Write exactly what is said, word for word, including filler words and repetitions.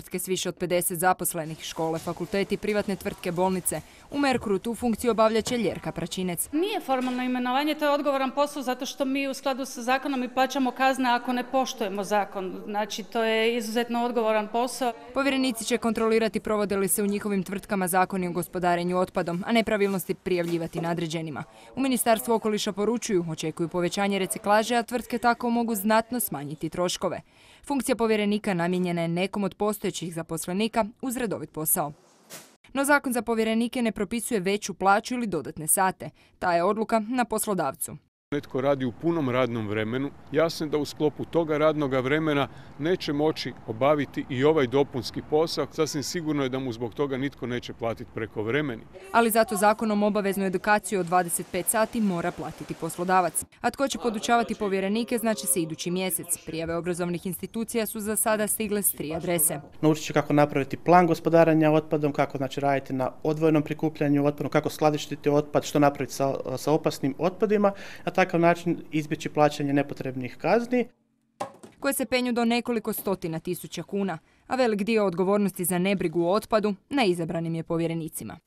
tvrtke s više od pedeset zaposlenih, škole, fakulteti, privatne tvrtke, bolnice. U Merkuru tu funkciju obavlja će Ljerka Pračinec. Nije formalno imenovanje, to je odgovoran posao zato što mi u skladu sa zakonom i plaćamo kazne ako ne poštujemo zakon. Znači, to je izuzetno odgovoran posao. Povjerenici će kontrolirati provode li se u njihovim tvrtkama zakoni o gospodarenju otpadom, a nepravilnosti prijavljivati nadređenima. U Ministarstvu okoliša poručuju, očekuju povećanje reciklaže, a tvrtke tako mogu znatno smanjiti troškove. Funkcija povjerenika namijenjena je nekom od postojećih zaposlenika uz redovit posao. No zakon za povjerenike ne propisuje veću plaću ili dodatne sate. Ta je odluka na poslodavcu. Netko radi u punom radnom vremenu, jasno je da u sklopu toga radnog vremena neće moći obaviti i ovaj dopunski posao. Sasvim sigurno je da mu zbog toga nitko neće platiti prekovremeni. Ali zato zakonom obaveznu edukaciju od dvadeset pet sati mora platiti poslodavac. A tko će podučavati povjerenike znači se idući mjesec. Prijave obrazovnih institucija su za sada stigle s tri adrese. Naučit će kako napraviti plan gospodarenja otpadom, kako znači raditi na odvojenom prikupljanju otpada, kako skladištiti otpad, što napraviti sa, sa opasnim otpadima, na takav način izbjeći plaćanje nepotrebnih kazni. Koje se penju do nekoliko stotina tisuća kuna, a velik dio odgovornosti za nebrigu o otpadu na izabranim je povjerenicima.